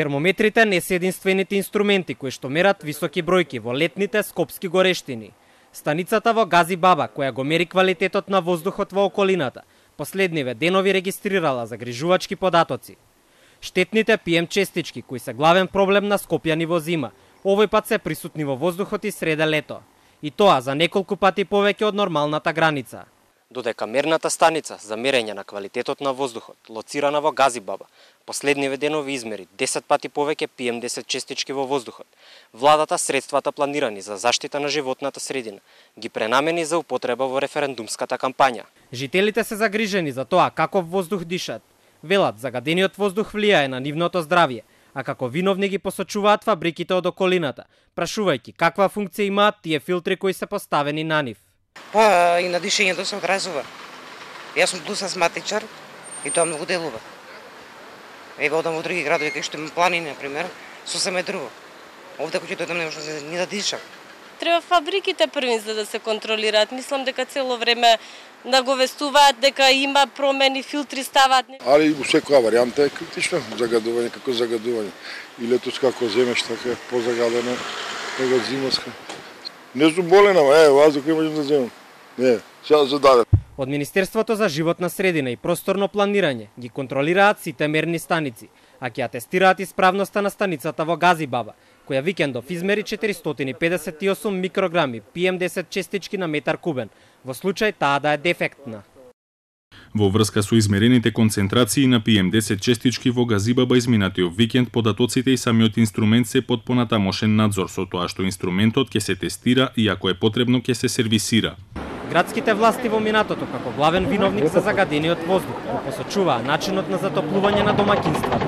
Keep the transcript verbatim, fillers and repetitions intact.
Термометрите не се единствените инструменти кои што мерат високи бројки во летните скопски горештини. Станицата во Гази Баба, која го мери квалитетот на воздухот во околината, последниве денови регистрирала загрижувачки податоци. Штетните пи ем честички, кои се главен проблем на скопјани во зима, овој пат се присутни во воздухот и среде лето. И тоа за неколку пати повеќе од нормалната граница. Додека мерната станица за мерење на квалитетот на воздухот, лоцирана во Гази Баба, последниве денови измери десет пати повеќе пи ем десет честички во воздухот, владата средствата планирани за заштита на животната средина ги пренамени за употреба во референдумската кампања. Жителите се загрижени за тоа каков воздух дишат. Велат, загадениот воздух влијае на нивното здравје, а како виновни ги посочуваат фабриките од околината, прашувајќи каква функција имаат тие филтри кои се поставени на нив. Па и на дишењето се одразува. Јас сум плюс астматичар и тоа многу делува. Еве одам во други градови кај што има планини, на пример, сосем е друго. Овде кога ќе дојдам не може ни да дишам. Треба фабриките први за да се контролираат. Мислам дека цело време наговестуваат дека има промени, филтри ставаат. Али секоја варијанта е критична, загадување како загадување. И летос како земеш така позагадено него зимоска. Не сум болен, ама е, ваздух не можам да земам. Не, сега се даде. Од Министерството за животна средина и просторно планирање ги контролираат сите мерни станици, а ќе атестираат исправноста на станицата во Гази Баба, која викендов измери четиристотини и педесет и осум микрограми пи ем десет честички на метар кубен, во случај таа да е дефектна. Во врска со измерените концентрации на пи ем десет честички во Гази Баба изминатиот викенд, податоците и самиот инструмент се под понатамошен надзор, со тоа што инструментот ќе се тестира и ако е потребно ќе се сервисира. Градските власти во минатото како главен виновник за загадениот воздух го посочуваа начинот на затоплување на домаќинства